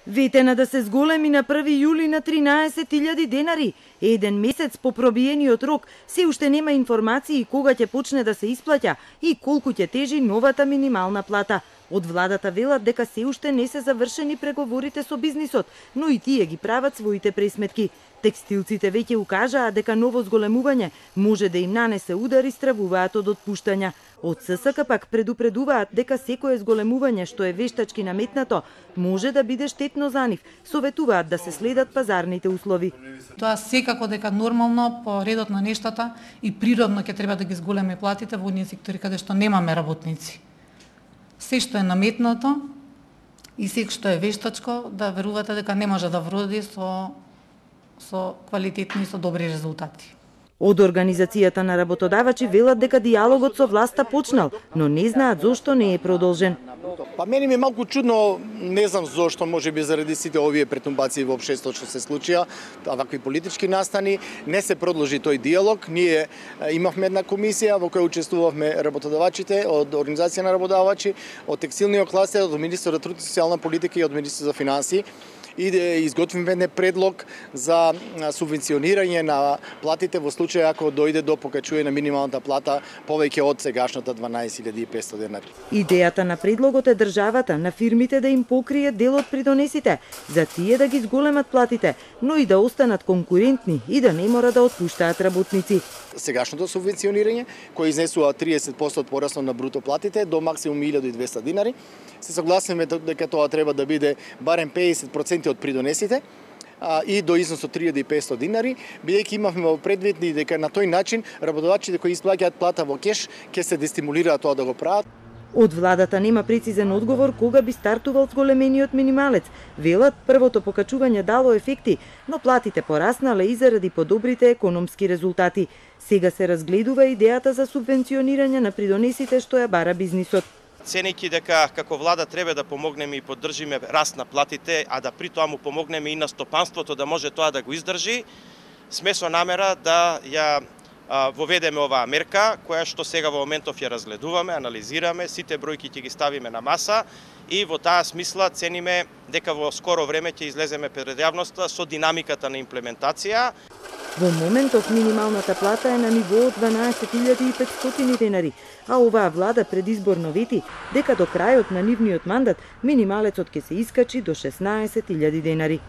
Ветена да се зголеми на 1 јули на 13.000 денари. Еден месец по пробиениот рок, се уште нема информации кога ќе почне да се исплаќа и колку ќе тежи новата минимална плата. Од владата велат дека се уште не се завршени преговорите со бизнисот, но и тие ги прават своите пресметки. Текстилците веќе укажаа дека ново зголемување може да им нанесе удар и стравуваат од отпуштања. Од ССК пак предупредуваат дека секое зголемување што е вештачки наметнато може да биде штетно за нив. Советуваат да се следат пазарните услови. Тоа секако дека нормално по редот на нештата и природно ќе треба да ги зголеме платите во оние сектори каде што немаме работници. Се што е наметнато и се што е вештачко, да верувате дека не може да вроди со квалитетни и со добри резултати. Од Организацијата на работодавачи велат дека дијалогот со власта почнал, но не знаат зошто не е продолжен. Па мене ми е малку чудно, не знам зошто, можеби заради сите овие претумбации во општеството што се случија, вакви политички настани, не се продолжи тој дијалог. Ние имавме една комисија во која учествувавме работодавачите од Организација на работодавачи, од текстилниот кластер, од Министерството за труд и социјална политика и од Министерството за финансии. И да изготвиме предлог за субвенционирање на платите во случај ако дојде до покачување на минималната плата повеќе од сегашната 12.500 денари. Идејата на предлогот е државата на фирмите да им покрие дел од придонесите, за тие да ги зголемат платите, но и да останат конкурентни и да не мора да отпуштаат работници. Сегашното субвенционирање, кој изнесува 30% од порасно на бруто платите до максимум 1.200 динари, се согласиме дека тоа треба да биде барем 50% од придонесите и до износ од 3.500 динари, бидејќи имавме во предвид дека на тој начин работодавачите кои исплаќаат плата во кеш ќе се дестимулираат тоа да го прават. Од владата нема прецизен одговор кога би стартувал зголемениот минималец. Велат првото покачување дало ефекти, но платите пораснале и заради подобрите економски резултати. Сега се разгледува идејата за субвенционирање на придонесите што ја бара бизнисот. Ценејќи дека како влада треба да помогнеме и поддржиме раст на платите, а да при тоа му помогнеме и на стопанството да може тоа да го издржи, сме со намера да ја воведеме оваа мерка, која што сега во моментов ја разгледуваме, анализираме, сите бројки ќе ги ставиме на маса и во таа смисла цениме дека во скоро време ќе излеземе пред јавноста со динамиката на имплементација. Во моментов минималната плата е на ниво од 12.500 денари, а оваа влада предизборно вети дека до крајот на нивниот мандат минималецот ќе се искачи до 16.000 денари.